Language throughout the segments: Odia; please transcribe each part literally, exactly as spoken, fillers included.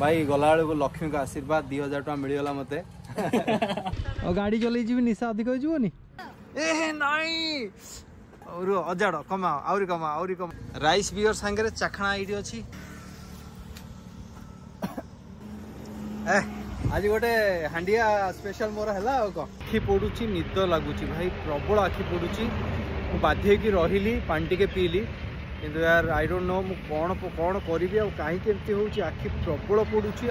ଭାଇ ଗଲାବେଳକୁ ଲକ୍ଷ୍ମୀଙ୍କ ଆଶୀର୍ବାଦ ଦୁଇ ହଜାର ଟଙ୍କା ମିଳିଗଲା ମୋତେ। ଆଉ ଗାଡ଼ି ଚଲେଇ ଯିବି, ନିଶା ଅଧିକ ହେଇଯିବନି? ଏ ନାଇଁ, ଅଜାଡ଼ କମାଅ, ଆହୁରି କମାଅ, ଆହୁରି କମା। ରାଇସ୍ ବିୟର ସାଙ୍ଗରେ ଚାଖଣା ଏଇଠି ଅଛି। ଏ ଆଜି ଗୋଟେ ହାଣ୍ଡିଆ ସ୍ପେଶାଲ ମୋର ହେଲା। ଆଉ କ'ଣ, ଆଖି ପୋଡୁଛି, ନିଦ ଲାଗୁଛି ଭାଇ, ପ୍ରବଳ ଆଖି ପୋଡୁଛି। ମୁଁ ବାଧ୍ୟ ହେଇକି ରହିଲି, ପାଣି ଟିକେ ପିଇଲି, କିନ୍ତୁ ୟାର I don't no ମୁଁ କ'ଣ କ'ଣ କରିବି ଆଉ କାହିଁକି ଏମିତି ହେଉଛି। ଆଖି ପ୍ରବଳ ପୋଡୁଛି।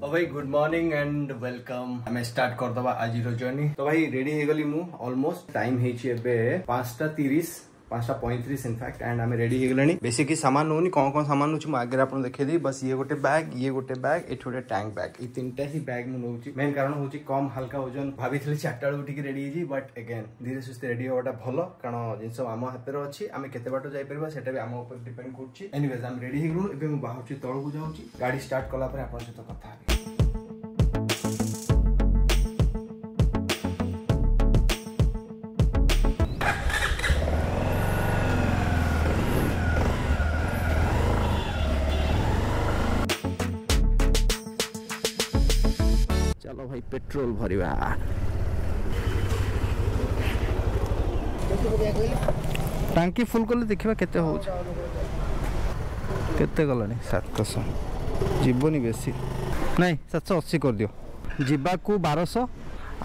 ତ ଭାଇ ଗୁଡ୍ ମର୍ଣ୍ଣିଂ ଆଣ୍ଡ welcome. ଆମେ ଷ୍ଟାର୍ଟ କରିଦେବା ଆଜିର ଜର୍ଣ୍ଣି। ତ ଭାଇ ରେଡି ହେଇଗଲି ମୁଁ ଅଲମୋଷ୍ଟ। ଟାଇମ୍ ହେଇଛି ଏବେ ପାଞ୍ଚଟା ତିରିଶ, ପାଞ୍ଚଟା ପଇଁତିରିଶ ଇନଫ୍ୟାକ୍ଟ, ଆଣ୍ଡ ଆମେ ରେଡି ହେଇଗଲେଣି। ବେଶୀ କିଛି ସାମାନ ନେଉନି। କ'ଣ କ'ଣ ସାମାନ ନେଉଛି ମୁଁ ଆଗରେ ଆପଣ ଦେଖେଇଦେବି। ବାସ୍ ଇଏ ଗୋଟେ ବ୍ୟାଗ୍, ଇଏ ଗୋଟେ ବ୍ୟାଗ୍, ଏଠି ଗୋଟେ ଟ୍ୟାଙ୍କ ବ୍ୟାଗ୍, ଏଇ ତିନିଟା ହିଁ ବ୍ୟାଗ୍ ମୁଁ ନେଉଛି। ମେନ୍ କାରଣ ହେଉଛି କମ୍ ହାଲକା ଓଜନ। ଭାବିଥିଲି ଚାରିଟା ବେଳକୁ ଟିକେ ରେଡି ହେଇଯିବି, ବଟ୍ ଏଗେନ୍ ଧୀରେ ସୁସ୍ଥେ ରେଡି ହେବାଟା ଭଲ, କାରଣ ଜିନିଷ ଆମ ହାତରେ ଅଛି, ଆମେ କେତେ ବାଟ ଯାଇପାରିବା ସେଟା ବି ଆମ ଉପରେ ଡିପେଣ୍ଡ କରୁଛି। ଏନିୱେଜ୍ ଆମେ ରେଡି ହେଇଗଲୁଣୁ। ଏବେ ମୁଁ ବାହାରୁଛି, ତଳକୁ ଯାଉଛି। ଗାଡ଼ି ଷ୍ଟାର୍ଟ କଲା ପରେ ଆପଣଙ୍କ ସହିତ କଥା ହେବି। ଚାଲ ଭାଇ ପେଟ୍ରୋଲ ଭରିବା। ଟାଙ୍କି ଫୁଲ୍ କଲେ ଦେଖିବା କେତେ ହଉଛି। କେତେ ଗଲାଣି? ସାତଶହ ଯିବନି ବେଶୀ, ନାଇଁ ସାତଶହ ଅଶୀ କରିଦିଅ। ଯିବାକୁ ବାରଶହ,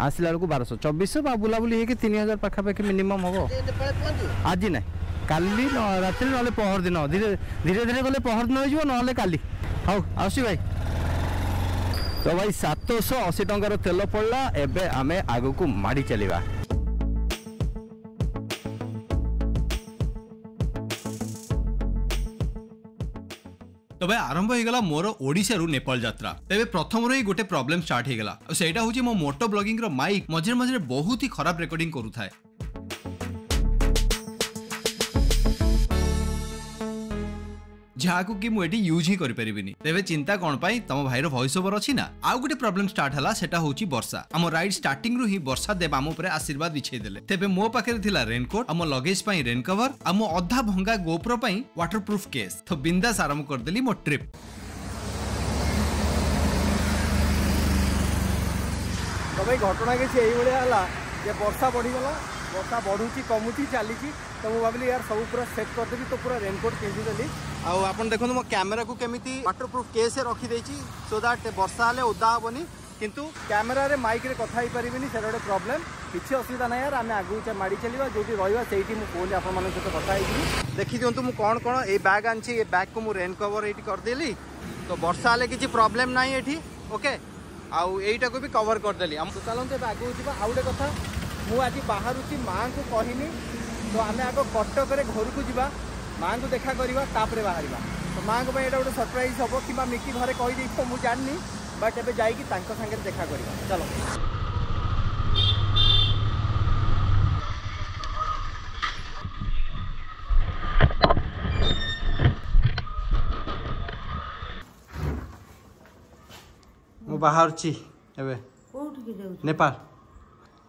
ଆସିଲା ବେଳକୁ ବାରଶହ, ଚବିଶଶହ ବା ବୁଲାବୁଲି ହେଇକି ତିନି ହଜାର ପାଖାପାଖି ମିନିମମ୍ ହବ। ଆଜି ନାଇଁ, କାଲି ରାତିରେ ନହେଲେ ପହର ଦିନ। ଧୀରେ ଧୀରେ ଧୀରେ ଗଲେ ପହର ଦିନ ହେଇଯିବ, ନହେଲେ କାଲି। ହଉ ଆସୁଛି ଭାଇ। ତ ଭାଇ ସାତଶହ ଅଶୀ ଟଙ୍କାର ତେଲ ପଡ଼ିଲା। ଏବେ ଆମେ ଆଗକୁ ମାଡ଼ି ଚାଲିବା। ତ ଭାଇ ଆରମ୍ଭ ହେଇଗଲା ମୋର ଓଡ଼ିଶାରୁ ନେପାଳ ଯାତ୍ରା। ତେବେ ପ୍ରଥମରୁ ହିଁ ଗୋଟେ ପ୍ରୋବ୍ଲେମ ଷ୍ଟାର୍ଟ ହେଇଗଲା, ଆଉ ସେଇଟା ହେଉଛି ମୋ ମୋଟୋ ବ୍ଲଗିଂର ମାଇକ୍ ମଝିରେ ମଝିରେ ବହୁତ ହି ଖରାପ ରେକର୍ଡିଂ କରୁଥାଏ, ଯାହାକୁ କି ମୁଁ ଏଠି ୟୁଜ୍ ହିଁ କରିପାରିବିନି। ତେବେ ଚିନ୍ତା କ'ଣ ପାଇଁ, ତମ ଭାଇର ଭଏସ୍ ଓଭର ଅଛି ନା। ଆଉ ଗୋଟେ ପ୍ରୋବ୍ଲେମ ଷ୍ଟାର୍ଟ ହେଲା, ସେଟା ହେଉଛି ବର୍ଷା। ଆମ ରାଇଡ୍ ଷ୍ଟାର୍ଟିଂରୁ ହିଁ ବର୍ଷା ଦେବ ଆମ ଉପରେ ଆଶୀର୍ବାଦ ବିଛେଇ ଦେଲେ। ତେବେ ମୋ ପାଖରେ ଥିଲା ରେନକୋଟ୍, ଆମ ଲଗେଜ ପାଇଁ ରେନ୍ କଭର, ଆଉ ମୋ ଅଧା ଭଙ୍ଗା ଗୋପ୍ରୋ ପାଇଁ ୱାଟର ପ୍ରୁଫ୍ କେସ୍। ତ ବିନ୍ଦାସ ଆରମ୍ଭ କରିଦେଲି ମୋ ଟ୍ରିପ୍। ତ ଭାଇ ଘଟଣା କିଛି ଏଇଭଳିଆ ହେଲା ଯେ ବର୍ଷା ବଢ଼ିଗଲା, ବର୍ଷା ବଢ଼ୁଛି କମୁଛି ଚାଲିଛି। ତ ମୁଁ ଭାବିଲି ୟାର ସବୁ ପୁରା ସେଟ୍ କରିଦେବି, ତ ପୁରା ରେନକୋଟ୍ ପିନ୍ଧିଦେଲି। ଆଉ ଆପଣ ଦେଖନ୍ତୁ ମୋ କ୍ୟାମେରାକୁ କେମିତି ୱାଟର ପ୍ରୁଫ୍ କେସ୍ ରଖିଦେଇଛି, ସୋ that ବର୍ଷା ହେଲେ ଓଦା ହେବନି, କିନ୍ତୁ କ୍ୟାମେରାରେ ମାଇକ୍ରେ କଥା ହେଇପାରିବିନି, ସେଇଟା ଗୋଟେ ପ୍ରୋବ୍ଲେମ୍। କିଛି ଅସୁବିଧା ନାହିଁ ୟାର, ଆମେ ଆଗକୁ ମାଡ଼ି ଚାଲିବା, ଯେଉଁଠି ରହିବା ସେଇଠି ମୁଁ ଫୋନ୍ରେ ଆପଣମାନଙ୍କ ସହିତ କଥା ହେଇଯିବି। ଦେଖିଦିଅନ୍ତୁ ମୁଁ କ'ଣ କ'ଣ ଏଇ ବ୍ୟାଗ୍ ଆଣିଛି। ଏ ବ୍ୟାଗ୍କୁ ମୁଁ ରେନ୍ କଭର୍ ଏଇଠି କରିଦେଲି, ତ ବର୍ଷା ହେଲେ କିଛି ପ୍ରୋବ୍ଲେମ୍ ନାହିଁ ଏଠି। ଓକେ, ଆଉ ଏଇଟାକୁ ବି କଭର୍ କରିଦେଲି। ଆମ ଚାଲନ୍ତୁ ଏବେ ଆଗକୁ ଯିବା। ଆଉ ଗୋଟେ କଥା, ମୁଁ ଆଜି ବାହାରୁଛି, ମାଆଙ୍କୁ କହିନି। ତ ଆମେ ଆଗ କଟକରେ ଘରକୁ ଯିବା, ମାଆଙ୍କୁ ଦେଖା କରିବା, ତାପରେ ବାହାରିବା। ତ ମାଆଙ୍କ ପାଇଁ ଏଇଟା ଗୋଟେ ସରପ୍ରାଇଜ୍ ହେବ, କିମ୍ବା ମିକି ଘରେ କହିଦେଇଥିବ ମୁଁ ଜାଣିନି, ବଟ୍ ଏବେ ଯାଇକି ତାଙ୍କ ସାଙ୍ଗରେ ଦେଖା କରିବା। ଚାଲ ମୁଁ ବାହାରୁଛି ଏବେ। କୋଉଠିକି ଯାଉଛୁ? ନେପାଳ।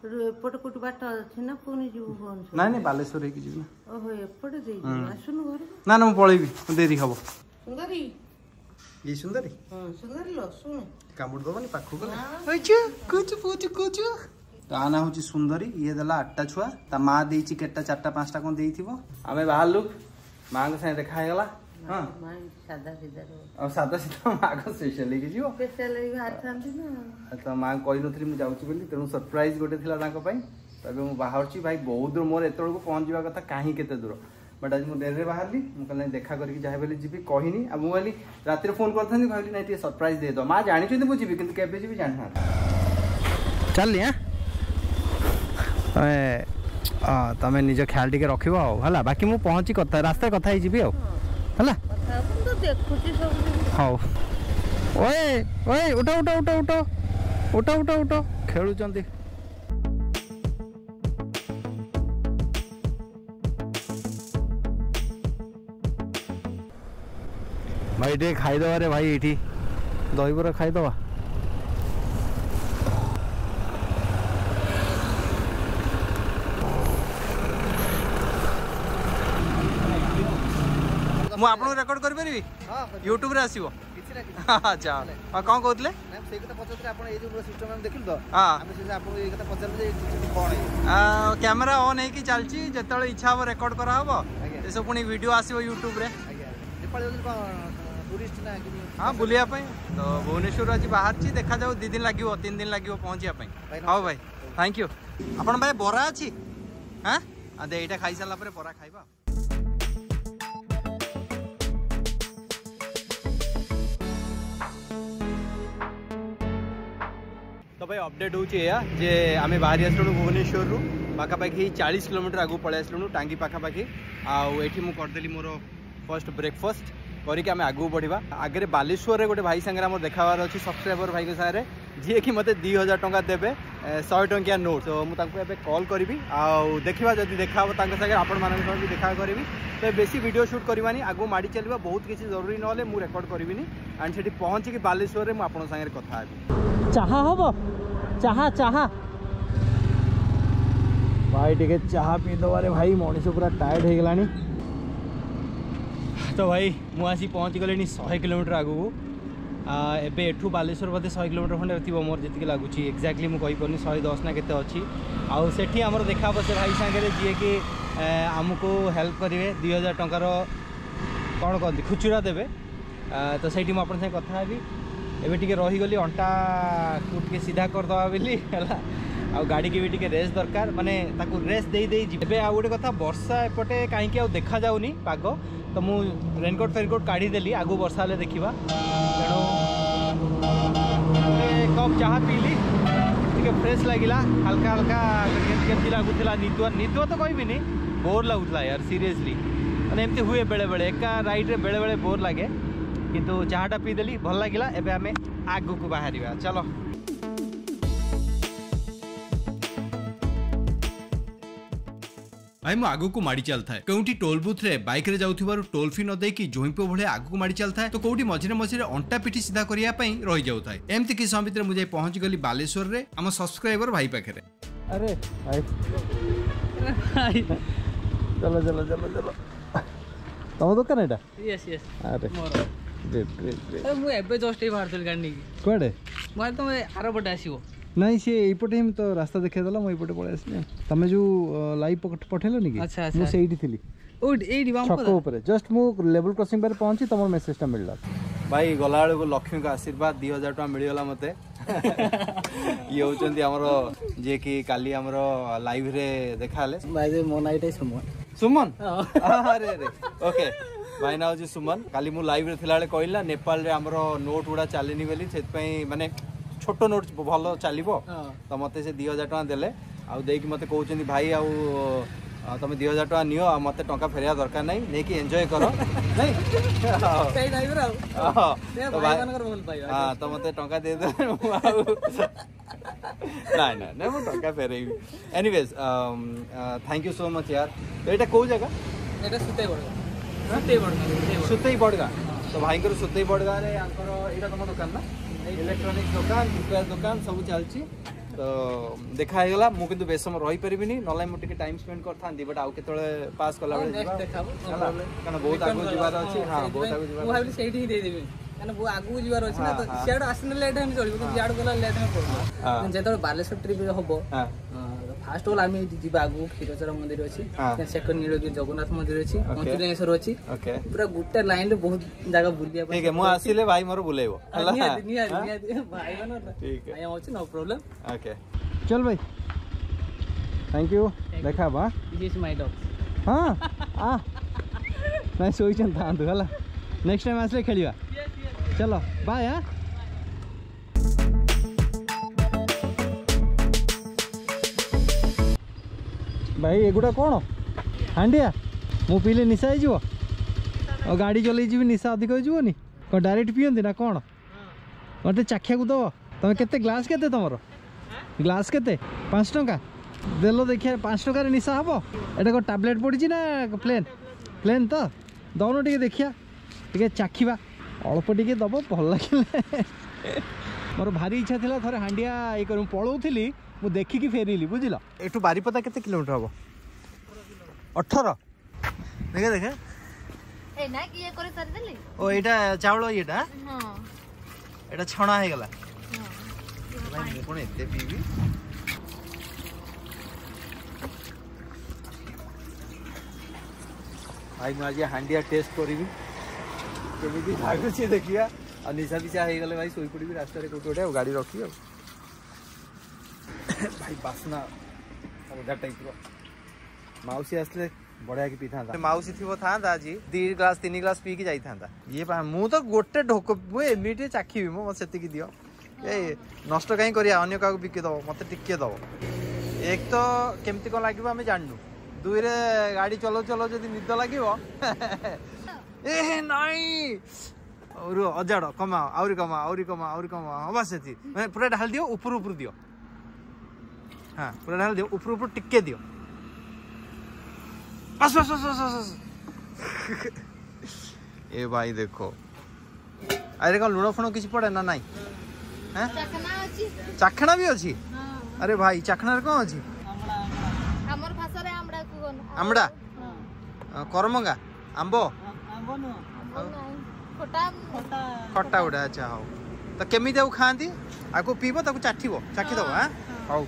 ଏପଟେ କୋଉଠି ବାଟ ଅଛି ନା ପୁଣି ଯିବୁ ଭୁବନେଶ୍ୱର? ନାଇଁ ନାଇଁ, ବାଲେଶ୍ୱର ହେଇକି ଯିବି ନା। ଓହୋ, ଏପଟେ ଦେଇଯିବୁ। ଆସୁନୁ ଘରକୁ। ନା ନା, ମୁଁ ପଳେଇବି, ଡେରି ହବ। ସୁନ୍ଦରୀ। ଇଏ ସୁନ୍ଦରୀ? ହଁ ସୁନ୍ଦରୀ ଲୋ, ଶୁଣ। କାମୁଡ଼ି ଦବନି ପାଖକୁ ଗଲେ? କୁଚୁ କୁଚୁ କୁଚୁ। ତା ନାଁ ହଉଛି ସୁନ୍ଦରୀ। ଇଏ ଦେଲା ଆଠଟା ଛୁଆ, ତା ମା ଦେଇଛି କେତେଟା, ଚାରିଟା ପାଞ୍ଚଟା କଣ ଦେଇଥିବ। ଆମେ ବାହାରିଲୁ, ମାଙ୍କ ସାଙ୍ଗେ ଦେଖା ହେଇଗଲା। ହଁ, ସାଧା ସିଧା। ଆଉ ସାଧା ସିଧା ମା କଣ ସ୍ପେଶାଲ ହେଇକି ଯିବ? ସ୍ପେଶାଲ ହେଇକି ବାହାରିଥାନ୍ତି ନା। ତ ମାଙ୍କୁ କହିନଥିଲି ମୁଁ ଯାଉଛି ବୋଲି, ତେଣୁ ସରପ୍ରାଇଜ ଗୋଟେ ଥିଲା ତାଙ୍କ ପାଇଁ। ତ ଏବେ ମୁଁ ବାହାରୁଛି ଭାଇ, ବହୁତ ଦୂର ମୋର ଏତେବେଳକୁ ପହଞ୍ଚିବା କଥା, କାହିଁ କେତେ ଦୂର, ବଟ୍ ଆଜି ମୁଁ ଡେରିରେ ବାହାରିଲି। ମୁଁ କହିଲି ନାଇଁ, ଦେଖା କରିକି ଯାହା ବୋଲି ଯିବି, କହିନି। ଆଉ ମୁଁ ଭାବିଲି ରାତିରେ ଫୋନ୍ କରିଥାନ୍ତି, ଭାବିଲି ନାଇଁ ଟିକେ ସରପ୍ରାଇଜ ଦେଇଦେବା। ମା ଜାଣିଛନ୍ତି ମୁଁ ଯିବି, କିନ୍ତୁ କେବେ ଯିବି ଜାଣିନାହାନ୍ତି। ଚାଲିଲି। ଆଁ ତମେ ତମେ ନିଜ ଖ୍ୟାଲ ଟିକେ ରଖିବ ଆଉ ହେଲା। ବାକି ମୁଁ ପହଞ୍ଚି କଥା ରାସ୍ତାରେ କଥା ହେଇଯିବି ଆଉ ହେଲା। ଦେଖୁଛି ସବୁ। ହଉ। ଓଏ ଓଏ, ଉଠ ଉଠ ଉଠ ଉଠ ଉଠ ଉଠ ଉଠ। ଖେଳୁଛନ୍ତି ଭାଇ। ଟିକେ ଖାଇଦେବା ରେ ଭାଇ, ଏଇଠି ଦହିବରା ଖାଇଦେବା। ମୁଁ ଆପଣଙ୍କୁ ରେକର୍ଡ କରିପାରିବି ୟୁଟ୍ୟୁବରେ ଆସିବ ଆଚ୍ଛା ହଁ କ'ଣ କହୁଥିଲେ ସେଇ କଥା ପଚାରୁଥିଲେ ଆପଣ ଏଇ ଯୋଉ ସିଷ୍ଟମ ଆମେ ଦେଖିଲୁ ତ ହଁ ଆମେ ସେ ଆପଣଙ୍କୁ ଏଇ କଥା ପଚାରିଲୁ ଯେ କ'ଣ କ୍ୟାମେରା ଅନ୍ ହେଇକି ଚାଲିଛି ଯେତେବେଳେ ଇଚ୍ଛା ହବ ରେକର୍ଡ କରାହବ ଏସବୁ ପୁଣି ଭିଡ଼ିଓ ଆସିବ ୟୁଟ୍ୟୁବରେ ଆଜ୍ଞା ନେପାଳ ଯାଉଛନ୍ତି କ'ଣ ଟୁରିଷ୍ଟ ନା ହଁ ବୁଲିବା ପାଇଁ ତ ଭୁବନେଶ୍ୱରରୁ ଆଜି ବାହାରିଛି ଦେଖାଯାଉ ଦୁଇ ଦିନ ଲାଗିବ ତିନି ଦିନ ଲାଗିବ ପହଞ୍ଚିବା ପାଇଁ ହଉ ଭାଇ thank you ଆପଣ ଭାଇ ବରା ଅଛି ହଁ ଦେ ଏଇଟା ଖାଇସାରିଲା ପରେ ବରା ଖାଇବା ତ ଭାଇ ଅପଡେଟ୍ ହେଉଛି ଏଇଆ ଯେ ଆମେ ବାହାରି ଆସିଲୁଣୁ ଭୁବନେଶ୍ୱରରୁ ପାଖାପାଖି ଚାଳିଶ କିଲୋମିଟର ଆଗକୁ ପଳେଇ ଆସିଲୁଣୁ ଟାଙ୍ଗି ପାଖାପାଖି ଆଉ ଏଇଠି ମୁଁ କରିଦେଲି ମୋର ଫର୍ଷ୍ଟ ବ୍ରେକଫାଷ୍ଟ କରିକି ଆମେ ଆଗକୁ ବଢ଼ିବା ଆଗରେ ବାଲେଶ୍ୱରରେ ଗୋଟେ ଭାଇ ସାଙ୍ଗରେ ଆମର ଦେଖା ହେବାର ଅଛି ସବସ୍କ୍ରାଇବର ଭାଇଙ୍କ ସାଙ୍ଗରେ ଯିଏକି ମୋତେ ଦୁଇ ହଜାର ଟଙ୍କା ଦେବେ ଶହେ ଟଙ୍କିଆ ନୋଟ୍ ତ ମୁଁ ତାଙ୍କୁ ଏବେ କଲ୍ କରିବି ଆଉ ଦେଖିବା ଯଦି ଦେଖା ହେବ ତାଙ୍କ ସାଙ୍ଗରେ ଆପଣମାନଙ୍କ ସହ ବି ଦେଖା କରିବି ତ ବେଶୀ ଭିଡ଼ିଓ ସୁଟ୍ କରିବାନି ଆଗକୁ ମାଡ଼ି ଚାଲିବା ବହୁତ କିଛି ଜରୁରୀ ନହେଲେ ମୁଁ ରେକର୍ଡ଼ କରିବିନି ଆଣ୍ଡ ସେଠି ପହଞ୍ଚିକି ବାଲେଶ୍ୱରରେ ମୁଁ ଆପଣଙ୍କ ସାଙ୍ଗରେ କଥା ହେବି ଚାହା ହବ ଚାହା ଚାହା ଭାଇ ଟିକେ ଚାହା ପିଇଦେବାରେ ଭାଇ ମଣିଷ ପୁରା ଟାୟାର୍ଡ ହେଇଗଲାଣି ତ ଭାଇ ମୁଁ ଆସି ପହଞ୍ଚିଗଲିଣି ଶହେ କିଲୋମିଟର ଆଗକୁ ଏବେ ଏଠୁ ବାଲେଶ୍ୱର ବୋଧେ ଶହେ କିଲୋମିଟର ଖଣ୍ଡେ ଥିବ ମୋର ଯେତିକି ଲାଗୁଛି ଏକ୍ଜାକ୍ଟଲି ମୁଁ କହିପାରୁନି ଶହେ ଦଶ ନା କେତେ ଅଛି ଆଉ ସେଠି ଆମର ଦେଖା ହେବ ସେ ଭାଇ ସାଙ୍ଗରେ ଯିଏକି ଆମକୁ ହେଲ୍ପ କରିବେ ଦୁଇ ହଜାର ଟଙ୍କାର କ'ଣ କହନ୍ତି ଖୁଚୁରା ଦେବେ ତ ସେଇଠି ମୁଁ ଆପଣଙ୍କ ସାଙ୍ଗେ କଥା ହେବି ଏବେ ଟିକେ ରହିଗଲି ଅଣ୍ଟାକୁ ଟିକେ ସିଧା କରିଦେବା ବୋଲି ହେଲା ଆଉ ଗାଡ଼ିକି ବି ଟିକେ ରେଷ୍ଟ ଦରକାର ମାନେ ତାକୁ ରେଷ୍ଟ ଦେଇ ଦେଇ ଯିବି ଏବେ ଆଉ ଗୋଟେ କଥା ବର୍ଷା ଏପଟେ କାହିଁକି ଆଉ ଦେଖାଯାଉନି ପାଗ ତ ମୁଁ ରେନକୋଟ୍ ଫେନକୋଟ୍ କାଢ଼ିଦେଲି ଆଗକୁ ବର୍ଷା ହେଲେ ଦେଖିବା ତେଣୁ ଗୋଟେ କପ୍ ଚାହା ପିଇଲି ଟିକେ ଫ୍ରେଶ୍ ଲାଗିଲା ହାଲକା ହାଲକା କେମିତି କେମିତି ଲାଗୁଥିଲା ନିଦୁଆ ନିଦୁଆ ତ କହିବିନି ବୋର୍ ଲାଗୁଥିଲା ୟାର ସିରିୟସଲି ମାନେ ଏମିତି ହୁଏ ବେଳେବେଳେ ଏକା ରାଇଡ଼୍ରେ ବେଳେବେଳେ ବୋର୍ ଲାଗେ କିନ୍ତୁ ଚାହାଟା ପିଇଦେଲି ଭଲ ଲାଗିଲା ଏବେ ଆମେ ଆଗକୁ ବାହାରିବା ଚାଲ ଭାଇ ମୁଁ ଆଗକୁ ମାଡ଼ି ଚାଲିଥାଏ କେଉଁଠି ଟୋଲ୍ ବୁଥରେ ବାଇକରେ ଯାଉଥିବାରୁ ଟୋଲ୍ ଫି ନ ଦେଇକି ଜୋଇଁପୁଅ ଭଳିଆ ଆଗକୁ ମାଡ଼ି ଚାଲିଥାଏ ତ କୋଉଠି ମଝିରେ ମଝିରେ ଅଣ୍ଟା ପିଠି ସିଧା କରିବା ପାଇଁ ରହିଯାଉଥାଏ ଏମିତି କିଛି ସମୟ ଭିତରେ ମୁଁ ଯାଇ ପହଞ୍ଚିଗଲି ବାଲେଶ୍ୱରରେ ଆମ ସବସ୍କ୍ରାଇବର ଭାଇ ପାଖରେ ଆରେ ଭାଇ ଚଲ ଚଲ ଚଲ ଚଲ ତମ ଦୋକାନ ଏଇଟା ୟେସ୍ ୟେସ୍ ଆରେ ଗ୍ରେଟ୍ ଗ୍ରେଟ୍ ଗ୍ରେଟ୍ ମୁଁ ଏବେ ଜଷ୍ଟ ଏଇ ବାହାରୁଥିଲି ଗାଡ଼ି ନେଇକି କୁଆଡ଼େ ମୁଁ ଭାବିଲି ତମେ ଆର ପଟେ ଆସିବ ନାଇଁ ସିଏ ଏଇପଟେ ହିଁ ତ ରାସ୍ତା ଦେଖେଇଦେଲା ମୁଁ ଏଇପଟେ ପଳେଇ ଆସିଲି ତମେ ଯୋଉ ଲାଇଭ୍ ପଠେଇଲନି କି ଆଚ୍ଛା ଆଚ୍ଛା ମୁଁ ସେଇଠି ଥିଲି ଏଇଠି ଛକ ଉପରେ ଜଷ୍ଟ ମୁଁ ଲେବୁଲ କ୍ରସିଂ ପାଖରେ ପହଞ୍ଚି ତମର ମେସେଜଟା ମିଳିଲା ଭାଇ ଗଲାବେଳକୁ ଲକ୍ଷ୍ମୀଙ୍କ ଆଶୀର୍ବାଦ ଦୁଇ ହଜାର ଟଙ୍କା ମିଳିଗଲା ମୋତେ ଇଏ ହେଉଛନ୍ତି ଆମର ଯିଏକି କାଲି ଆମର ଲାଇଭରେ ଦେଖାହେଲେ ଭାଇ ମୋ ନାଁ ଏଇଟା ସୁମନ ସୁମନ ଆରେ ଆରେ ଓକେ ଭାଇ ନାଁ ହେଉଛି ସୁମନ କାଲି ମୁଁ ଲାଇଭରେ ଥିଲାବେଳେ କହିଲି ନା ନେପାଳରେ ଆମର ନୋଟ୍ ଗୁଡ଼ା ଚାଲିନି ବୋଲି ସେଥିପାଇଁ ମାନେ ଛୋଟ ନୋଟ୍ ଭଲ ଚାଲିବ ତ ମୋତେ ସେ ଦୁଇ ହଜାର ଟଙ୍କା ଦେଲେ ଆଉ ଦେଇକି ମୋତେ କହୁଛନ୍ତି ଭାଇ ଆଉ ତମେ ଦୁଇ ହଜାର ଟଙ୍କା ନିଅ ଆଉ ମୋତେ ଟଙ୍କା ଫେରିବା ଦରକାର ନାହିଁ ନେଇକି ଏନ୍ଜୟ କର ନାଇଁ ହଁ ତ ମୋତେ ଟଙ୍କା ଦେଇଦେଲେ ମୁଁ ଆଉ ନାଇଁ ନାଇଁ ନାଇଁ ମୁଁ ଟଙ୍କା ଫେରେଇବି anyways thank you so much ୟାର ତ ଏଇଟା କୋଉ ଜାଗା ଏଇଟା ସୁତେଇ ବଡ଼ଗାଁ ସୁତେଇ ବଡ଼ଗାଁ ସୁତେଇ ବଡ଼ଗାଁ ତ ଭାଇଙ୍କର ସୁତେଇ ବଡ଼ଗାଁରେ ୟାଙ୍କର ଏଇଟା ତମ ଦୋକାନ ନା ଇଲେକ୍ଟ୍ରୋନିକ୍ସ ଦୋକାନ ରିପେୟାର ଦୋକାନ ସବୁ ଚାଲିଛି ତ ଦେଖା ହେଇଗଲା ମୁଁ କିନ୍ତୁ ବେଶୀ ସମୟ ରହିପାରିବିନି ନହେଲେ ମୁଁ ଟିକେ ଟାଇମ୍ ସ୍ପେଣ୍ଡ କରିଥାନ୍ତି ବଟ୍ ଆଉ କେତେବେଳେ ପାସ୍ କଲାବେଳେ ଯିବା କାରଣ ବହୁତ ଆଗକୁ ଯିବାର ଅଛି ହଁ ବହୁତ ଆଗକୁ ଯିବାର ମୁଁ ଭାବିଲି ସେଇଠି ହିଁ ଦେଇଦେବି କାରଣ ବହୁ ଆଗକୁ ଯିବାର ଅଛି ନା ତ ସିଆଡ଼ୁ ଆସିଲେ ଲେଟ୍ ହେଲେ ଚଳିବ କିନ୍ତୁ ଇଆଡ଼ୁ ଗଲା ଲେଟ୍ ହେଲେ ପଡ଼ିବ ଯେତେବେଳେ ବାଲେଶ୍ୱର ଟ୍ରିପ୍ ହବ ଫାଷ୍ଟ ଅଲ୍ ଆମେ ଯିବା ଆଗକୁ କ୍ଷୀରଚୋରା ମନ୍ଦିର ଅଛି ସେକେଣ୍ଡ ନୀଳଗିରି ଜଗନ୍ନାଥ ମନ୍ଦିର ଅଛି ପଞ୍ଚଲିଙ୍ଗେଶ୍ୱର ଅଛି ପୁରା ଗୋଟେ ଲାଇନରେ ବହୁତ ଜାଗା ବୁଲିବା ପାଇଁ ମୁଁ ଆସିଲେ ଭାଇ ମୋର ବୁଲେଇବ ନିହାତି ନିହାତି ନିହାତି ଭାଇ ମାନେ ଭାଇ ଅଛି ନୋ ପ୍ରୋବ୍ଲେମ୍ ଓକେ ଚଲ ଭାଇ thank you ଦେଖା ହବା this is my dog ହଁ ଆ ନାଇଁ ଶୋଇଛନ୍ତି ଥାଆନ୍ତୁ ହେଲା ନେକ୍ସଟ ଟାଇମ୍ ଆସିଲେ ଖେଳିବା ଚलो ବାଏ ହଁ ଭାଇ ଏଗୁଡ଼ା କ'ଣ ହାଣ୍ଡିଆ ମୁଁ ପିଇଲେ ନିଶା ହେଇଯିବ ଆଉ ଗାଡ଼ି ଚଲେଇ ଯିବି ନିଶା ଅଧିକ ହେଇଯିବନି କ'ଣ ଡାଇରେକ୍ଟ ପିଅନ୍ତି ନା କ'ଣ ମୋତେ ଚାଖିବାକୁ ଦେବ ତମେ କେତେ ଗ୍ଲାସ୍ କେତେ ତମର ଗ୍ଲାସ୍ କେତେ ପାଞ୍ଚ ଟଙ୍କା ଦେଲ ଦେଖିବା ପାଞ୍ଚ ଟଙ୍କାରେ ନିଶା ହେବ ଏଇଟା କ'ଣ ଟାବଲେଟ୍ ପଡ଼ିଛି ନା ପ୍ଲେନ୍ ପ୍ଲେନ୍ ତ ଦଉନ ଟିକେ ଦେଖିବା ଟିକେ ଚାଖିବା ଅଳ୍ପ ଟିକେ ଦେବ ଭଲ ଲାଗିଲେ ମୋର ଭାରି ଇଚ୍ଛା ଥିଲା ଥରେ ହାଣ୍ଡିଆ ଇଏ କରି ମୁଁ ପଳଉଥିଲି ମୁଁ ଦେଖିକି ଫେରିଲି ବୁଝିଲ ଏଠୁ ବାରିପଦା କେତେ କିଲୋମିଟର ହବ ଅଠର ଦେଖେ ଦେଖେ ଏ ନା କିଏ କରି ସାରିଦେଲି। ଓ ଏଇଟା ଚାଉଳ ଇଏଟା? ହଁ, ଏଇଟା ଛଣା ହେଇଗଲା। ଭାଇ ମୁଁ କଣ ଏତେ ପିଇବି? ଭାଇ ମୁଁ ଆଜି ହାଣ୍ଡିଆ ଟେଷ୍ଟ କରିବି, କେମିତି ଲାଗୁଛି ଦେଖିବା। ଆଉ ନିଶା ଫିସା ହେଇଗଲେ ଭାଇ ଶୋଇପଡ଼ିବି ରାସ୍ତାରେ କୋଉଠି ଗୋଟେ, ଆଉ ଗାଡ଼ି ରଖିବି। ଆଉ ଭାଇ ବାସ୍ନା ଅଲଗା ଟାଇପ୍ର। ମାଉସୀ ଆସିଲେ ବଢ଼ିଆ କି ପିଇଥାନ୍ତା। ମାଉସୀ ଥିବ ଥାନ୍ତା ଆଜି ଦି ଗ୍ଲାସ ତିନି ଗ୍ଲାସ ପିଇକି ଯାଇଥାନ୍ତା ଇଏ। ମୁଁ ତ ଗୋଟେ ଢୋକ, ମୁଁ ଏମିତି ଚାଖିବି, ମୁଁ ମୋତେ ସେତିକି ଦିଅ। ଏ ନଷ୍ଟ କାହିଁ କରିବା, ଅନ୍ୟ କାହାକୁ ବିକି ଦବ, ମୋତେ ଟିକେ ଦବ। ଏକ ତ କେମିତି କ'ଣ ଲାଗିବ ଆମେ ଜାଣିନୁ, ଦୁଇରେ ଗାଡ଼ି ଚଲଉ ଚଲଉ ଯଦି ନିଦ ଲାଗିବ। ଏ ନାଇଁ ରୁହ, ଅଜାଡ଼ କମାଅ, ଆହୁରି କମାଅ, ଆହୁରି କମାଅ, ଆହୁରି କମାଅ। ହଁ ବାସ୍ ସେତିକି, ମାନେ ପୁରା ଢାଳି ଦିଅ, ଉପରୁ ଉପରୁ ଦିଅ। ହଁ ପୁରା ଢାଳି ଦିଅ, ଉପରୁ ଉପରୁ ଟିକେ ଦିଅ, ବାସ୍ ବାସ୍ ବାସ୍ ବାସ୍ ବାସ୍। ଏ ଭାଇ ଦେଖ, ଆରେ କ'ଣ ଲୁଣ ଫୁଣ କିଛି ପଡ଼େ ନା ନାଇଁ? ଚାଖଣା ବି ଅଛି? ଆରେ ଭାଇ ଚାଖଣାରେ କ'ଣ ଅଛି? ଆମ୍ବଡ଼ା, କରମଙ୍ଗା, ଆମ୍ବ, ଖଟା ଗୋଟେ। ଆଚ୍ଛା ହଉ, ତ କେମିତି ଆଉ ଖାଆନ୍ତି? ଆକୁ ପିଇବ, ତାକୁ ଚାଖିବ, ଚାଖିଦବ। ଆଁ ହଉ,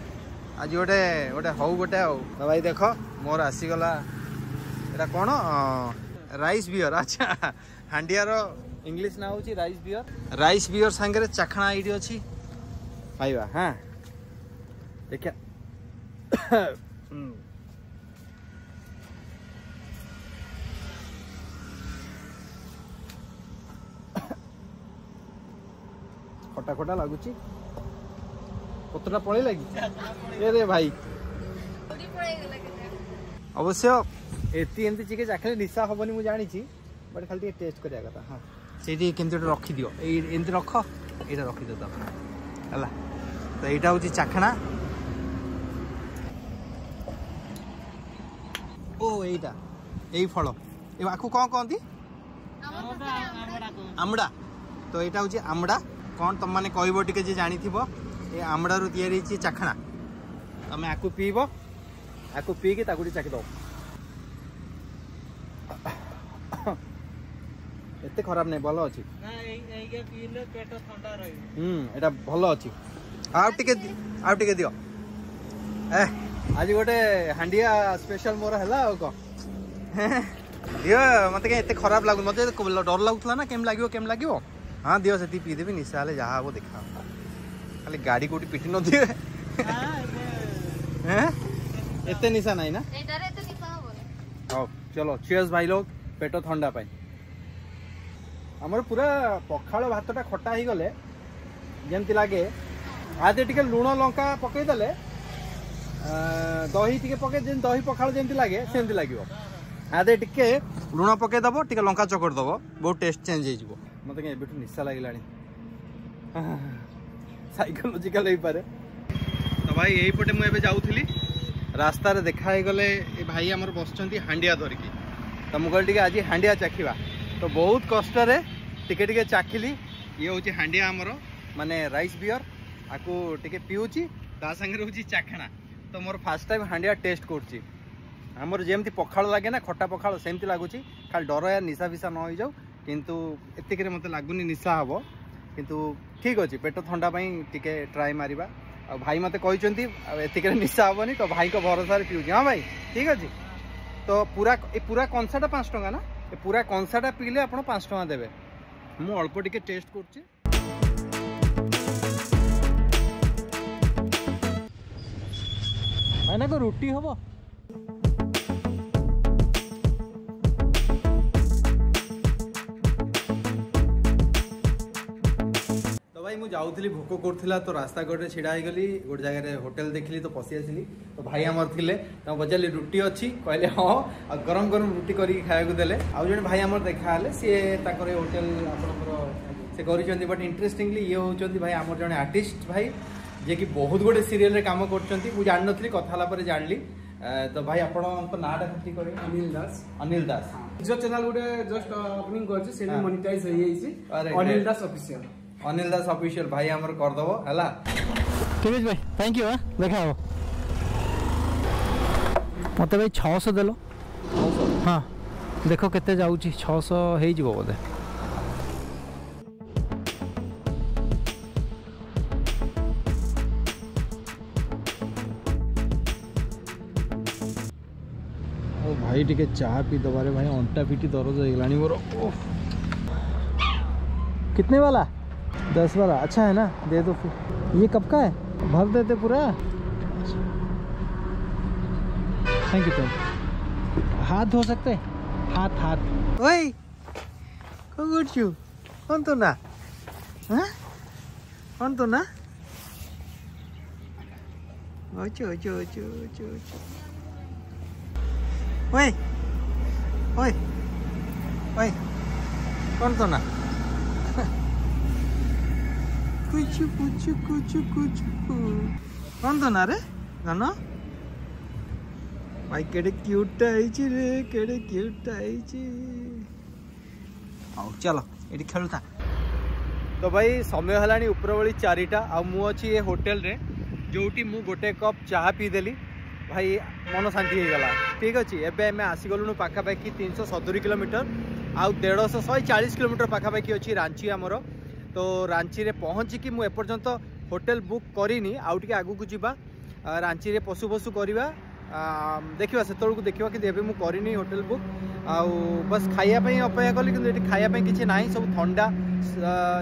ଆଜି ଗୋଟେ ଗୋଟେ ହଉ ଗୋଟେ। ଆଉ ତ ଭାଇ ଦେଖ ମୋର ଆସିଗଲା, ଏଇଟା କ'ଣ? Rice beer. ଆଚ୍ଛା, ହାଣ୍ଡିଆର ଇଂଲିଶ ନାଁ ହେଉଛି ରାଇସ୍ ବିୟର। ରାଇସ୍ ବିୟର ସାଙ୍ଗରେ ଚାଖଣା ଏଇଠି ଅଛି, ଖାଇବା। ହଁ ଦେଖିବା। ଖଟା ଖଟା ଲାଗୁଛି। ପତ୍ରଟା ପଳେଇଲା କି? ଏ ରେ ଭାଇ, ଅବଶ୍ୟ ଏତି ଏମିତି ଚିକେ ଚାଖିଲେ ନିଶା ହବନି ମୁଁ ଜାଣିଛି, ବଟ୍ ଖାଲି ଟିକେ ଟେଷ୍ଟ କରିବା କଥା। ହଁ ସେଇଠି କେମିତି ଗୋଟେ ରଖିଦିଅ, ଏଇ ଏମିତି ରଖ, ଏଇଟା ରଖିଦିଅ ତ ହେଲା। ତ ଏଇଟା ହେଉଛି ଚାଖଣା। ଓ ଏଇଟା ଏଇ ଫଳ, ଆକୁ କ'ଣ କହନ୍ତି? ଆମ୍ବଡ଼ା। ତ ଏଇଟା ହେଉଛି ଆମ୍ବଡ଼ା। କ'ଣ ତମମାନେ କହିବ ଟିକେ ଯେ ଜାଣିଥିବ? ଏ ଆମ୍ବଡ଼ାରୁ ତିଆରି ହେଇଛି ଚାଖଣା। ତମେ ଆକୁ ପିଇବ, ଆକୁ ପିଇକି ତାକୁ ଟିକେ ଚାଖିଦବ। ଏତେ ଖରାପ ନାହିଁ, ଭଲ ଅଛି। ହୁଁ ଏଇଟା ଭଲ ଅଛି। ଆଉ ଟିକେ, ଆଉ ଟିକେ ଦିଅ। ଏ ଆଜି ଗୋଟେ ହାଣ୍ଡିଆ ସ୍ପେଶାଲ ମୋର ହେଲା। ଆଉ କ'ଣ ଦିଅ, ମତେ କାଇଁ ଏତେ ଖରାପ ଲାଗୁନି। ମତେ ଡର ଲାଗୁଥିଲା ନା, କେମିତି ଲାଗିବ କେମିତି ଲାଗିବ। ହଁ ଦିଅ ସେତିକି ପିଇଦେବି, ନିଶା ହେଲେ ଯାହା ହବ ଦେଖା ହବ। ଖାଲି ଗାଡ଼ି କୋଉଠି ପିଟି ନଥିବେ। ଏତେ ନିଶା ନାହିଁ ନା? ହଉ ଚଲୋ, ଚିୟର୍ସ ଭାଇ ଲୋକ, ପେଟ ଥଣ୍ଡା ପାଇଁ। ଆମର ପୁରା ପଖାଳ ଭାତଟା ଖଟା ହେଇଗଲେ ଯେମିତି ଲାଗେ, ଆଦେ ଟିକେ ଲୁଣ ଲଙ୍କା ପକେଇଦେଲେ, ଦହି ଟିକେ ପକେଇ, ଯେମିତି ଦହି ପଖାଳ ଯେମିତି ଲାଗେ ସେମିତି ଲାଗିବ। ଆଦେ ଟିକେ ଲୁଣ ପକେଇଦବ, ଟିକେ ଲଙ୍କା ଚକଟି ଦବ, ବହୁତ ଟେଷ୍ଟ ଚେଞ୍ଜ ହେଇଯିବ। ମତେ କାଇଁ ଏବେଠୁ ନିଶା ଲାଗିଲାଣି, ସାଇକୋଲୋଜିକାଲ ହେଇପାରେ। ତ ଭାଇ ଏଇପଟେ ମୁଁ ଏବେ ଯାଉଥିଲି, ରାସ୍ତାରେ ଦେଖା ହେଇଗଲେ ଏ ଭାଇ ଆମର ବସିଛନ୍ତି ହାଣ୍ଡିଆ ଧରିକି। ତ ମୁଁ କହିଲି ଟିକେ ଆଜି ହାଣ୍ଡିଆ ଚାଖିବା, ତ ବହୁତ କଷ୍ଟରେ ଟିକେ ଟିକେ ଚାଖିଲି। ଇଏ ହେଉଛି ହାଣ୍ଡିଆ ଆମର, ମାନେ ରାଇସ୍ ବିୟର, ଆକୁ ଟିକେ ପିଉଛି, ତା ସାଙ୍ଗରେ ହେଉଛି ଚାଖଣା। ତ ମୋର ଫାର୍ଷ୍ଟ ଟାଇମ୍ ହାଣ୍ଡିଆ ଟେଷ୍ଟ କରୁଛି। ଆମର ଯେମିତି ପଖାଳ ଲାଗେ ନା, ଖଟା ପଖାଳ, ସେମିତି ଲାଗୁଛି। ଖାଲି ଡର ୟାର ନିଶା ଫିସା ନ ହେଇଯାଉ, କିନ୍ତୁ ଏତିକିରେ ମୋତେ ଲାଗୁନି ନିଶା ହେବ, କିନ୍ତୁ ଠିକ୍ ଅଛି, ପେଟ ଥଣ୍ଡା ପାଇଁ ଟିକେ ଟ୍ରାଏ ମାରିବା। ଆଉ ଭାଇ ମୋତେ କହିଛନ୍ତି ଆଉ ଏତିକିରେ ନିଶା ହେବନି, ତ ଭାଇଙ୍କ ଭରସାରେ ପିଉଛି। ହଁ ଭାଇ ଠିକ୍ ଅଛି। ତ ପୁରା ଏ ପୁରା କଂସାଟା ପାଞ୍ଚ ଟଙ୍କା ନା? ଏ ପୁରା କଂସାଟା ପିଇଲେ ଆପଣ ପାଞ୍ଚ ଟଙ୍କା ଦେବେ। ମୁଁ ଅଳ୍ପ ଟିକେ ଟେଷ୍ଟ କରୁଛି। ଭାଇନା ରୁଟି ହବ? ତ ଭାଇ ମୁଁ ଯାଉଥିଲି, ଭୋକ କରୁଥିଲା, ତ ରାସ୍ତା କଡ଼ରେ ଛିଡ଼ା ହେଇଗଲି। ଗୋଟେ ଜାଗାରେ ହୋଟେଲ ଦେଖିଲି ତ ପଶି ଆସିଲି। ତ ଭାଇ ଆମର ଥିଲେ, ତାଙ୍କୁ ପଚାରିଲି ରୁଟି ଅଛି? କହିଲେ ହଁ, ଆଉ ଗରମ ଗରମ ରୁଟି କରିକି ଖାଇବାକୁ ଦେଲେ। ଆଉ ଜଣେ ଭାଇ ଆମର ଦେଖା ହେଲେ, ସିଏ ତାଙ୍କର ଏ ହୋଟେଲ ଆପଣଙ୍କର ସେ କରିଛନ୍ତି। ବଟ୍ ଇଣ୍ଟରେଷ୍ଟିଂଲି ଇଏ ହେଉଛନ୍ତି ଭାଇ ଆମର ଜଣେ ଆର୍ଟିଷ୍ଟ ଭାଇ, ଯିଏକି ବହୁତ ଗୋଟେ ସିରିଏଲରେ କାମ କରୁଛନ୍ତି। ମୁଁ ଜାଣିନଥିଲି, କଥା ହେଲା ପରେ ଜାଣିଲି। ତ ଭାଇ ଆପଣଙ୍କ ନାଁଟା ଟିକେ କହିବେ? ଅନିଲ ଦାସ। ଅନିଲ ଦାସ। ନିଜ ଚ୍ୟାନେଲ ଗୋଟେ ଜଷ୍ଟ ଓପନିଂ କରିଛି, ସେଟା ମନିଟାଇଜ ହେଇଯାଇଛି, ଅନିଲ ଦାସ ଅଫିସିଆଲ। ଅନିଲ ଦାସ ଅଫିସିଆଲ ଭାଇ ଆମର କରିଦବ ହେଲା। ଠିକ ଅଛି ଭାଇ, thank you. ଦେଖା ହବ। ମତେ ଭାଇ ଛଅଶହ ଦେଲ। ହଁ। ଦେଖ କେତେ ଯାଉଛି, ଛଅଶହ ହେଇଯିବ ବୋଧେ। ଆଉ ଭାଇ ଟିକେ ଚା ପିଇ ଦେବାରେ ଭାଇ, ଅଣ୍ଟା ପିଠି ଦରଜ ହେଇଗଲାଣି ମୋର। ଓଃ, कितने वाला? दस वाला अच्छा है ना, दे दो फिर। ये कब का है? भर देते पूरा। Thank you thank you. हाथ धो सकते हैं? हाथ हाथ। ओए कौन करଛୁ? कौन तो ना? हाँ कौन तो ना? ओचो ओचो ओचो ओचो ओचो। ओए ओए ओए कौन तो ना? कुछ कुछ कुछ कुछ कौन तो ना रे धन भाई? केड़े क्यूट ହେଇଛି ରେ, କେଡ଼େ କ୍ୟୁଟ୍ ହେଇଛି। ହଉ ଚାଲ ଏଠି ଖେଳୁଥା। ତ ଭାଇ ସମୟ ହେଲାଣି ଉପରବେଳି ଚାରିଟା, ଆଉ ମୁଁ ଅଛି ଏ ହୋଟେଲରେ ଯେଉଁଠି ମୁଁ ଗୋଟେ କପ୍ ଚାହା ପିଇଦେଲି ଭାଇ, ମନ ଶାନ୍ତି ହେଇଗଲା। ଠିକ୍ ଅଛି, ଏବେ ଆମେ ଆସିଗଲୁଣୁ ପାଖାପାଖି ତିନିଶହ ସତୁରି କିଲୋମିଟର, ଆଉ ଦେଢ଼ଶହ ଶହେ ଚାଳିଶ କିଲୋମିଟର ପାଖାପାଖି ଅଛି ରାଞ୍ଚି ଆମର। ତ ରାଞ୍ଚିରେ ପହଞ୍ଚିକି ମୁଁ ଏପର୍ଯ୍ୟନ୍ତ ହୋଟେଲ ବୁକ୍ କରିନି, ଆଉ ଟିକେ ଆଗକୁ ଯିବା, ରାଞ୍ଚିରେ ପଶୁ ପଶୁ କରିବା, ଦେଖିବା ସେତେବେଳକୁ ଦେଖିବା, କିନ୍ତୁ ଏବେ ମୁଁ କରିନି ହୋଟେଲ ବୁକ୍। ଆଉ ବାସ୍ ଖାଇବା ପାଇଁ ଅପେକ୍ଷା କଲି, କିନ୍ତୁ ଏଠି ଖାଇବା ପାଇଁ କିଛି ନାହିଁ, ସବୁ ଥଣ୍ଡା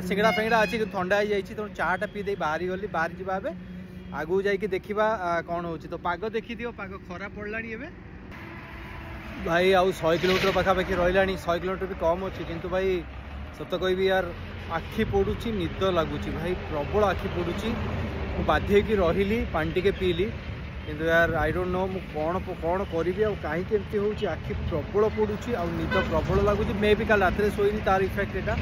ସିଙ୍ଗଡ଼ା ଫିଙ୍ଗଡ଼ା ଅଛି, କିନ୍ତୁ ଥଣ୍ଡା ହେଇଯାଇଛି। ତେଣୁ ଚାଟା ପିଇ ଦେଇ ବାହାରି ଗଲି, ବାହାରି ଯିବା ଏବେ ଆଗକୁ ଯାଇକି ଦେଖିବା କ'ଣ ହେଉଛି। ତ ପାଗ ଦେଖିଦିଅ, ପାଗ ଖରାପ ପଡ଼ିଲାଣି ଏବେ ଭାଇ। ଆଉ ଶହେ କିଲୋମିଟର ପାଖାପାଖି ରହିଲାଣି, ଶହେ କିଲୋମିଟର ବି କମ୍ ଅଛି, କିନ୍ତୁ ଭାଇ ସତ କହିବି ୟାର ଆଖି ପୋଡ଼ୁଛି, ନିଦ ଲାଗୁଛି ଭାଇ, ପ୍ରବଳ ଆଖି ପୋଡ଼ୁଛି। ମୁଁ ବାଧ୍ୟ ହେଇକି ରହିଲି, ପାଣି ଟିକେ ପିଇଲି, କିନ୍ତୁ ୟାର I don't know ମୁଁ କ'ଣ କ'ଣ କରିବି ଆଉ କାହିଁକି ଏମିତି ହେଉଛି। ଆଖି ପ୍ରବଳ ପୋଡ଼ୁଛି ଆଉ ନିଦ ପ୍ରବଳ ଲାଗୁଛି। ମେ ବି କାଲି ରାତିରେ ଶୋଇନି, ତାର ଇଫେକ୍ଟ ଏଇଟା।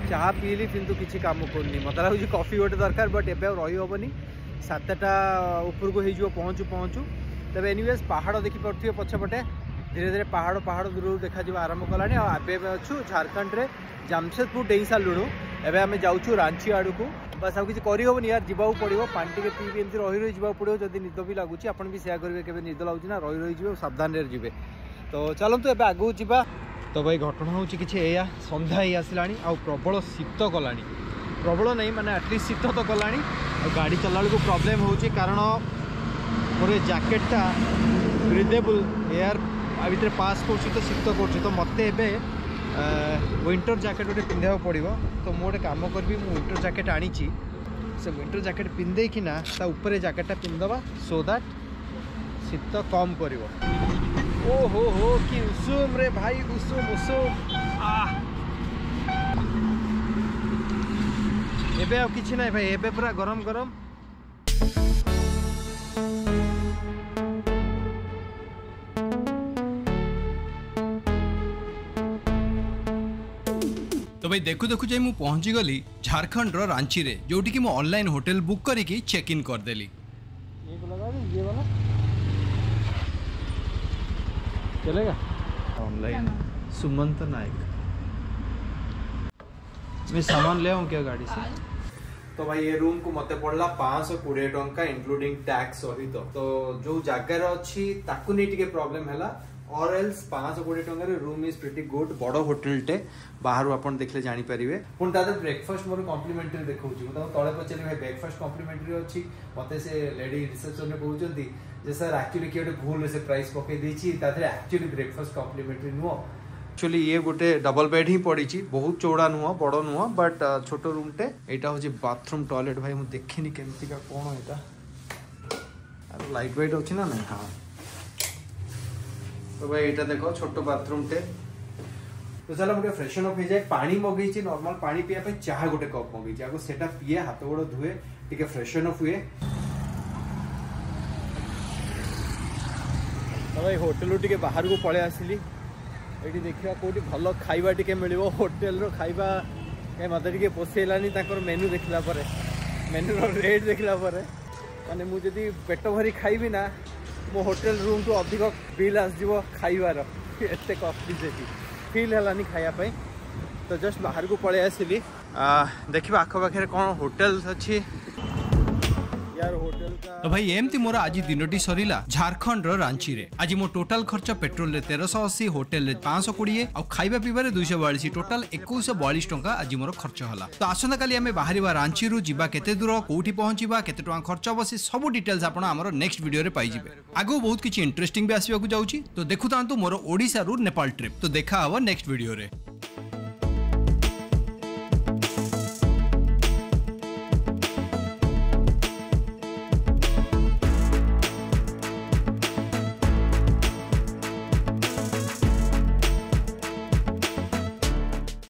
ଚାହା ପିଇଲି କିନ୍ତୁ କିଛି କାମ କରୁନି, ମୋତେ ଲାଗୁଛି କଫି ଗୋଟେ ଦରକାର, ବଟ୍ ଏବେ ଆଉ ରହିହେବନି, ସାତଟା ଉପରକୁ ହେଇଯିବ ପହଞ୍ଚୁ ପହଞ୍ଚୁ। ତେବେ ଏନିୱେଜ୍ ପାହାଡ଼ ଦେଖିପାରୁଥିବେ ପଛପଟେ, ଧୀରେ ଧୀରେ ପାହାଡ଼ ପାହାଡ଼ ଦୂରରୁ ଦେଖାଯିବା ଆରମ୍ଭ କଲାଣି। ଆଉ ଏବେ ଆମେ ଅଛୁ ଝାଡ଼ଖଣ୍ଡରେ ଜାମସେଦପୁର ଡେଇଁ ସାରିଲୁଣୁ, ଏବେ ଆମେ ଯାଉଛୁ ରାଞ୍ଚି ଆଡ଼କୁ। ବାସ୍ ଆଉ କିଛି କରିହେବନି ୟାର, ଯିବାକୁ ପଡ଼ିବ, ପାଣି ଟିକେ ପିଇବି ଏମିତି ରହି ରହି ଯିବାକୁ ପଡ଼ିବ। ଯଦି ନିଦ ବି ଲାଗୁଛି ଆପଣ ବି ସେୟା କରିବେ, କେବେ ନିଦ ଲାଗୁଛି ନା ରହି ରହିଯିବେ, ସାବଧାନରେ ଯିବେ। ତ ଚାଲନ୍ତୁ ଏବେ ଆଗକୁ ଯିବା। ତ ଭାଇ ଘଟଣା ହେଉଛି କିଛି ଏଇଆ, ସନ୍ଧ୍ୟା ହେଇ ଆସିଲାଣି ଆଉ ପ୍ରବଳ ଶୀତ କଲାଣି, ପ୍ରବଳ ନାହିଁ ମାନେ ଆଟଲିଷ୍ଟ ଶୀତ ତ କଲାଣି। ଆଉ ଗାଡ଼ି ଚଲାଇଲା ବେଳକୁ ପ୍ରୋବ୍ଲେମ୍ ହେଉଛି, କାରଣ ମୋର ଏ ଜ୍ୟାକେଟ୍ଟା ବ୍ରିଦେବୁଲ୍ ଏୟାର ଆ ଭିତରେ ପାସ୍ କରୁଛି ତ ଶୀତ କରୁଛି। ତ ମୋତେ ଏବେ ୱିଣ୍ଟର ଜ୍ୟାକେଟ୍ ଗୋଟେ ପିନ୍ଧିବାକୁ ପଡ଼ିବ। ତ ମୁଁ ଗୋଟେ କାମ କରିବି, ମୁଁ ୱିଣ୍ଟର ଜ୍ୟାକେଟ୍ ଆଣିଛି, ସେ ୱିଣ୍ଟର ଜ୍ୟାକେଟ୍ ପିନ୍ଧେଇକିନା ତା ଉପରେ ଜ୍ୟାକେଟ୍ଟା ପିନ୍ଧିଦେବା, ସୋ that ଶୀତ କମ୍ କରିବ। ଓ ହୋ ହୋ କି ଉଷୁମ ରେ ଭାଇ, ଉଷୁମ ଉଷୁମ। ଏବେ ଆଉ କିଛି ନାହିଁ ଭାଇ, ଏବେ ପୁରା ଗରମ ଗରମ। ତ ଭାଇ ଦେଖୁ ଦେଖୁ ଯାଇ ମୁଁ ପହଞ୍ଚିଗଲି ଝାଡ଼ଖଣ୍ଡର ରାଞ୍ଚିରେ, ଯେଉଁଠିକି ମୁଁ ଅନଲାଇନ୍ ହୋଟେଲ ବୁକ୍ କରିକି ଚେକ୍ ଇନ୍ କରିଦେଲି। ये वाला चलेगा ऑनलाइन। सुमंत नायक, मैं सामान ले आऊँ क्या गाड़ी से? ତ ଭାଇ ଏ ରୁମ୍କୁ ମୋତେ ପଡ଼ିଲା ପାଞ୍ଚଶହ କୋଡ଼ିଏ ଟଙ୍କା ଇନକ୍ଲୁଡିଂ ଟ୍ୟାକ୍ସ ସହିତ। ତ ଯୋଉ ଜାଗାରେ ଅଛି ତାକୁ ନେଇ ଟିକେ ପ୍ରୋବ୍ଲେମ୍ ହେଲା, ଅର୍ ଏଲ୍ସ ପାଞ୍ଚଶହ କୋଡ଼ିଏ ଟଙ୍କାରେ ରୁମ୍ is pretty good. ବଡ଼ ହୋଟେଲଟେ, ବାହାରୁ ଆପଣ ଦେଖିଲେ ଜାଣିପାରିବେ। ପୁଣି ତା ଦେହରେ ବ୍ରେକଫାଷ୍ଟ ମୋର କମ୍ପ୍ଲିମେଣ୍ଟାରୀ ଦେଖାଉଛି। ମୁଁ ତାଙ୍କୁ ତଳେ ପଚାରିଲି ଭାଇ ବ୍ରେକଫାଷ୍ଟ କମ୍ପ୍ଲିମେଣ୍ଟାରୀ ଅଛି, ମୋତେ ସେ ଲେଡି ରିସେପସନରେ କହୁଛନ୍ତି ଯେ ସାର୍ ଆକ୍ଚୁଆଲି କିଏ ଗୋଟେ ଭୁଲରେ ସେ ପ୍ରାଇସ୍ ପକେଇ ଦେଇଛି, ତା ଦେହରେ ଆକ୍ଚୁଆଲି ବ୍ରେକଫାଷ୍ଟ କମ୍ପ୍ଲିମେଣ୍ଟାରୀ ନୁହଁ। ଆକ୍ଚୁଆଲି ଇଏ ଗୋଟେ ଡବଲ ବେଡ୍ ହିଁ ପଡ଼ିଛି, ବହୁତ ଚଉଡ଼ା ନୁହଁ, ବଡ଼ ନୁହଁ, ବଟ୍ ଛୋଟ ରୁମ୍ଟେ। ଏଇଟା ହେଉଛି ବାଥରୁମ୍ ଟଏଲେଟ୍। ଭାଇ ମୁଁ ଦେଖିନି କେମିତିକା କ'ଣ ଏଇଟା, ଆଉ ଲାଇଟ୍ ୱାଇଟ୍ ଅଛି ନା ନାଇଁ? ହଁ ତ ଭାଇ ଏଇଟା ଦେଖ ଛୋଟ ବାଥରୁମ୍ଟେ। ତ ଚାଲ ମୁଁ ଟିକେ ଫ୍ରେଶନ୍ ଅପ୍ ହେଇଯାଏ। ପାଣି ମଗେଇଛି, ନର୍ମାଲ ପାଣି ପିଇବା ପାଇଁ ଚାହା ଗୋଟେ କପ୍ ମଗେଇଛି, ଆଗ ସେଟା ପିଏ, ହାତ ଗୋଡ଼ ଧୁଏ, ଟିକେ ଫ୍ରେଶନ୍ ଅପ୍ ହୁଏ। ତ ଭାଇ ହୋଟେଲରୁ ଟିକେ ବାହାରକୁ ପଳେଇ ଆସିଲି, ଏଇଠି ଦେଖିବା କେଉଁଠି ଭଲ ଖାଇବା ଟିକେ ମିଳିବ। ହୋଟେଲର ଖାଇବା କାଇଁ ମୋତେ ଟିକେ ପୋଷେଇଲାନି, ତାଙ୍କର ମେନୁ ଦେଖିଲା ପରେ, ମେନୁର ରେଟ୍ ଦେଖିଲା ପରେ, ମାନେ ମୁଁ ଯଦି ପେଟ ଭରି ଖାଇବି ନା, ମୋ ହୋଟେଲ ରୁମ୍ଠୁ ଅଧିକ ବିଲ୍ ଆସିଯିବ ଖାଇବାର, ଏତେ କଷ୍ଟଲି ସେଠି ଫିଲ୍ ହେଲାନି ଖାଇବା ପାଇଁ। ତ ଜଷ୍ଟ ବାହାରକୁ ପଳେଇ ଆସିଲି, ଦେଖିବା ଆଖପାଖରେ କ'ଣ ହୋଟେଲ ଅଛି। यार होटल का ତ ଭାଇ, ଏମିତି ମୋର ଆଜି ଦିନଟି ସରିଲା ଝାରଖଣ୍ଡର ରାଞ୍ଚିରେ। ଆଜି ମୋ ଟୋଟାଲ ଖର୍ଚ୍ଚ ପେଟ୍ରୋଲରେ ତେରଶହ ଅଶୀ, ହୋଟେଲରେ ପାଞ୍ଚଶହ କୋଡ଼ିଏ ଆଉ ଖାଇବା ପିଇବାରେ ଦୁଇଶହ ବୟାଳିଶ, ଟୋଟାଲ ଏକୋଇଶହ ବୟାଳିଶ ଟଙ୍କା ଆଜି ମୋର ଖର୍ଚ୍ଚ ହେଲା। ତ ଆସନ୍ତାକାଲି ଆମେ ବାହାରିବା ରାଞ୍ଚିରୁ। ଯିବା କେତେ ଦୂର, କୋଉଠି ପହଞ୍ଚିବା, କେତେ ଟଙ୍କା ଖର୍ଚ୍ଚ ହବ, ସେ ସବୁ ଡିଟେଲ୍ସ ଆପଣ ଆମର ନେକ୍ସଟ ଭିଡ଼ିଓରେ ପାଇଯିବେ। ଆଗକୁ ବହୁତ କିଛି ଇଣ୍ଟରେଷ୍ଟିଂ ବି ଆସିବାକୁ ଯାଉଛି। ତ ଦେଖୁଥାନ୍ତୁ ମୋର ଓଡ଼ିଶାରୁ ନେପାଳ ଟ୍ରିପ୍। ତ ଦେଖା ହବ ନେକ୍ସଟ ଭିଡ଼ିଓରେ।